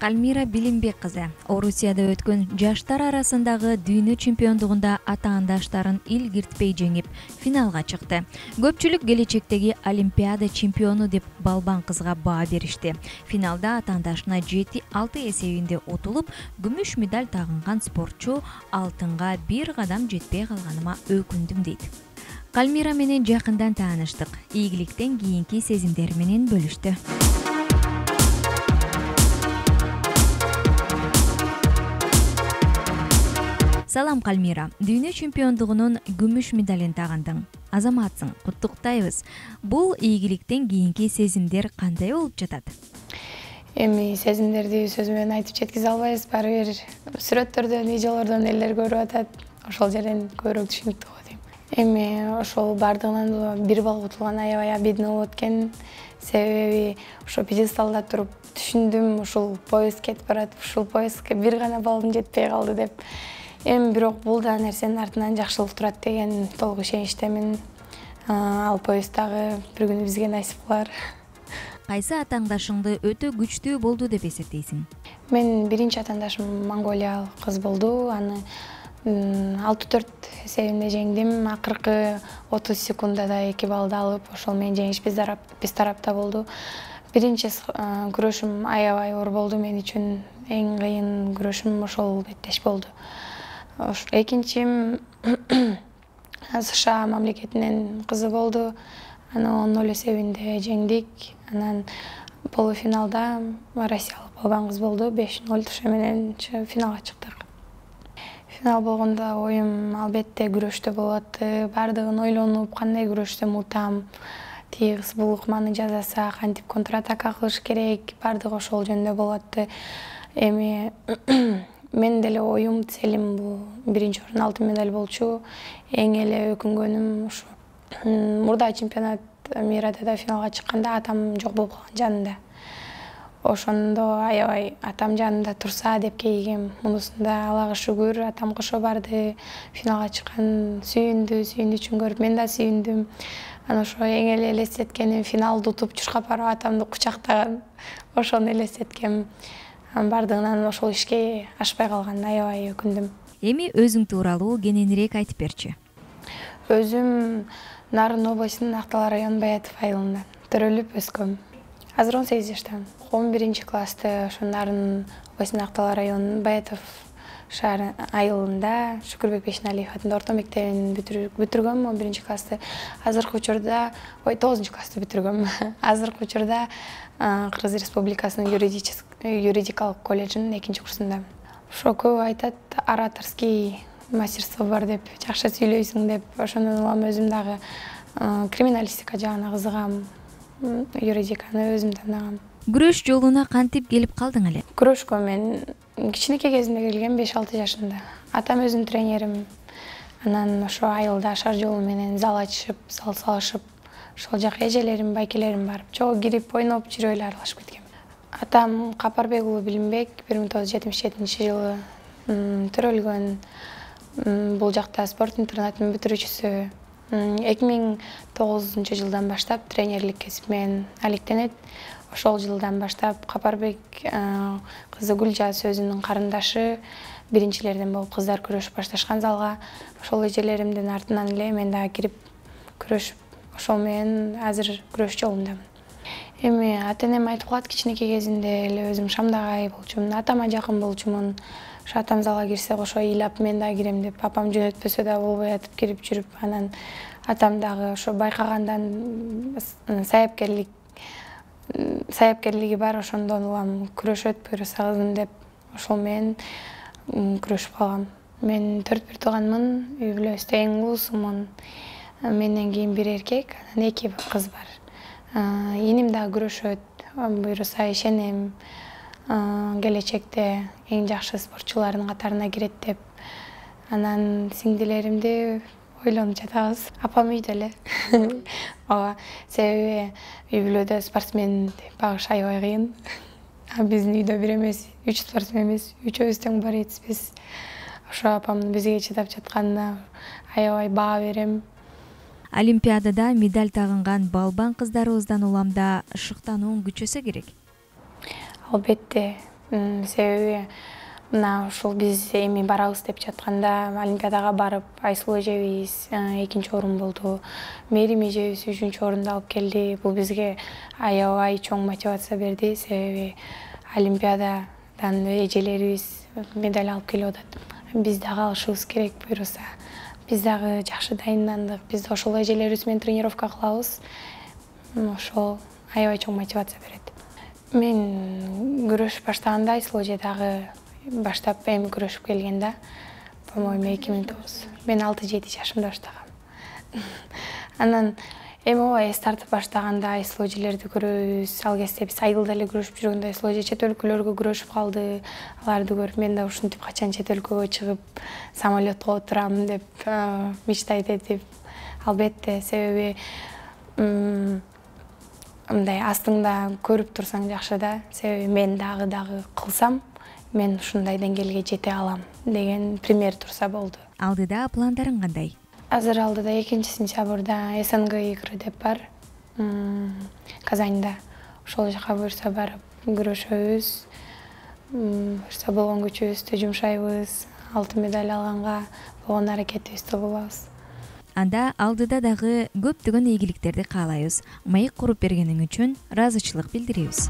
Кальмира Билимбек кызы Орусияда өткөн жаштар арасындагы дүйнө чемпиондугунда атаандаштарын илгиртпей жеңип, финалга чыкты. Көпчүлүк келечектеги Олимпиада чемпиону деп балбан кызга баа беришти. Финалда атаандашына 7-6 эсебинде утулуп, күмүш медаль тагынган спортчу алтынга бир кадам жетпей калганыма өкүндүм дейт. Кальмира менен жакындан тааныштык. Ийгиликтен кийинки сезимдери менен бөлүштү. Салам Кальмира, дүйнө чемпиондугунун күмүш медалин тагындың. Азаматсың, куттуктайбыз. Бул ийгиликтен кийинки сезимдер кандай болуп жатат? Эми сезимдерди сөз менен айтып жеткизе албайбыз. Баары бир сүрөттөрдөн, видеолордон элдер көрүп атат. Ошол жерден көбүрөөк түшүнүктүү болот дейм. Эми ошол бардыгынан бир балл утулган аябай обидно болот экен. Себеби ошо пьедесталда туруп түшүндүм, ушул поезд кетип барат, ушул поездге бир гана баллым жетпей калды деп. Эми бирок бул да нерсенин артынан жакшылык турат деген толук ишеничтемин. Ал поезд дагы бир күнү бизге насип кылар. Кайсы атаандашыңды өтө күчтүү болду деп эсептейсиң? Мен биринчи атаандашым монголиялык кыз болду. Аны 6-4 эсебинде жеңдим. Акыркы 30 секундада 2 баллды алып, ошол менен жеңиш биз тарапта болду. Биринчи күрөшүм аябай оор болду мен үчүн. Эң кыйын күрөшүм ошол беттеш болду. Экинчим США мамлекетинин кызы болду. Аны 10-0 эсебинде жеңдик. Анан полуфиналда россиялык балбан кыз болду. 5-0 ошо менен финалга чыктык. Финал болгондо оюм албетте күрөштө болот. Бардыгын ойлонуп, кандай күрөштөм утам, тиги кыз бул ыкманы жасаса, кантип контратака кылыш керек, бардыгы ошол жөнүндө болот. Эми мен деле оюм, целим бул биринчи орун алтын медаль болчу. Эң эле өкүнгөнүм ушу мурда чемпионат мирада да финалга чыкканда атам жок болуп калган жанында. Ошондо аябай атам жанында турса деп кейигем. Мунусунда Аллага шүгүр, атам кошо барды, финалга чыккан, сүйүндү үчүн көрүп мен да сүйүндүм. Анан ошо эң эле элестеткеним финалды утуп чуркап барып атамды кучактаган. Ошону элестеткем. Бардыгынан ошол ишке ашпай калган, аябай өкүндүм. Эми өзүң тууралуу кененирээк айтып берчи. Өзүм Нарын областынын Актала районунун Баятов айылында төрөлүп өскөм. Азыр 18 жаштамын. 11 классты ошо Нарын областынын Актала районунун Баятов шаар айылында Шүкүрбек Бешеналиев атындагы орто мектебин бүтүргөм 11 классты. Азыркы учурда 9 классты бүтүргөм. Азыркы учурда Кыргыз Республикасынын юридикалык колледжинин 2-курсундамын. Ошо көп айтат, ораторский мастерство бар деп, жакшы сүйлөйсүң деп. Ошондон улам өзүм дагы криминалистика жагына кызыгам, юридиканы өзүм тандагам. Күрөш жолуна кантип келип калдың эле? Күрөшкө мен кичинекей кезимде келгем, 5-6 жашымда. Атам өзүнүн тренерим. Анан ошо айылда шар жолу менен зал ачышып, зал салышып, ошол жака эжелерим, байкелерим барып, чогуу кирип, ойноп жүрүп эле аралашып кеткем. Атам Капарбек уулу Билимбек 1977-жылы төрөлгөн. Бул жакта спорт интернатынын бүтүрүүчүсү. 2009-жылдан баштап тренерлик кесип менен алектенет. Ошол жылдан баштап Капарбек кызы Гүлжаз өзүнүн карындашы биринчилерден болуп кыздар күрөшүп башташкан залга. Ошол эжелеримдин артынан эле мен дагы кирип күрөшүп, ошол менен азыр күрөш жолундамын. Эми ата-энем айтып калат, кичинекей кезинде эле өзүм шамдагай болчумун, атама жакын болчумун. Ошо атам залга кирсе кошо ыйлап мен дагы кирем деп, апам жөнөтпөсө да болбой атып кирип жүрүп, анан атам дагы ошо байкагандан саяпкерлиги бар, ошондон улам күрөшөт, буюрса кызым деп, ошол менен күрөшүп калгам. Мен 4 тууганмын, үй бүлөбүздө эң улуусумун. Менден кийин бир эркек, анан 2 кыз бар. Иним дагы күрөшөт, буюрса ишенем, келечекте эң жакшы спортчулардын катарына кирет деп. Анан сиңдилеримди ойлонуп жатабыз. Апам үйдө эле. Ооба, себеби үй бүлөдө спортсмен багыш аябай кыйын. Биздин үйдө бир эмес, 3 спортсменбиз, үчөөбүз тең борецпиз. Ошо апамдын бизге чыдап жатканына аябай баа берем. Олимпиадада медаль тагынган балбан кыздарыбыздан уламда шыктанууң күчөсө керек. Албетте, Себеби мына ушул биз эми барабыз деп жатканда Олимпиадага барып Айсулуу эжебиз 2-орун болду. Мээрим эжебиз 3-орунду алып келди. Бул бизге аябай чоң мотивация берди. Себеби Олимпиададан эжелерибиз медаль алып келип атат. Биз дагы алышыбыз керек буюрса. Биз дагы жакшы дайындандык. Биз ошол эжелерибиз менен тренировка кылабыз. Ошол аябай чоң мотивация берет. Мен күрөш баштаганда Айсулуу эже дагы баштап эми күрөшүп келген да. По-моему 2009. Мен 6-7 жашымда баштагам. Анан эми ооба эс тартып баштаганда Айсулуу эжелерди көрөбүз. Ал кезде биз айылда эле күрөшүп жүргөндө Айсулуу эже чет өлкөлөргө күрөшүп калды. Аларды көрүп мен да ушинтип качан чет өлкөгө чыгып самолетко отурам деп мечтать этип, албетте, себеби мындай астыңда көрүп турсаң жакшы да. Себеби мен дагы кылсам, мен ушундай деңгээлге жете алам деген пример турса болду. Алдыда пландарың кандай? Азыр алдыда 2-сентябрда СНГ игры деп бар. Казанда. Ошол жака буюрса барып күрөшөбүз. Буюрса болгон күчүбүздү жумшайбыз. Алтын медаль алганга болгон аракетибизди кылабыз. Анда алдыда дагы көптөгөн ийгиликтерди каалайбыз. Маек куруп бергениң үчүн ыраазычылык билдиребиз.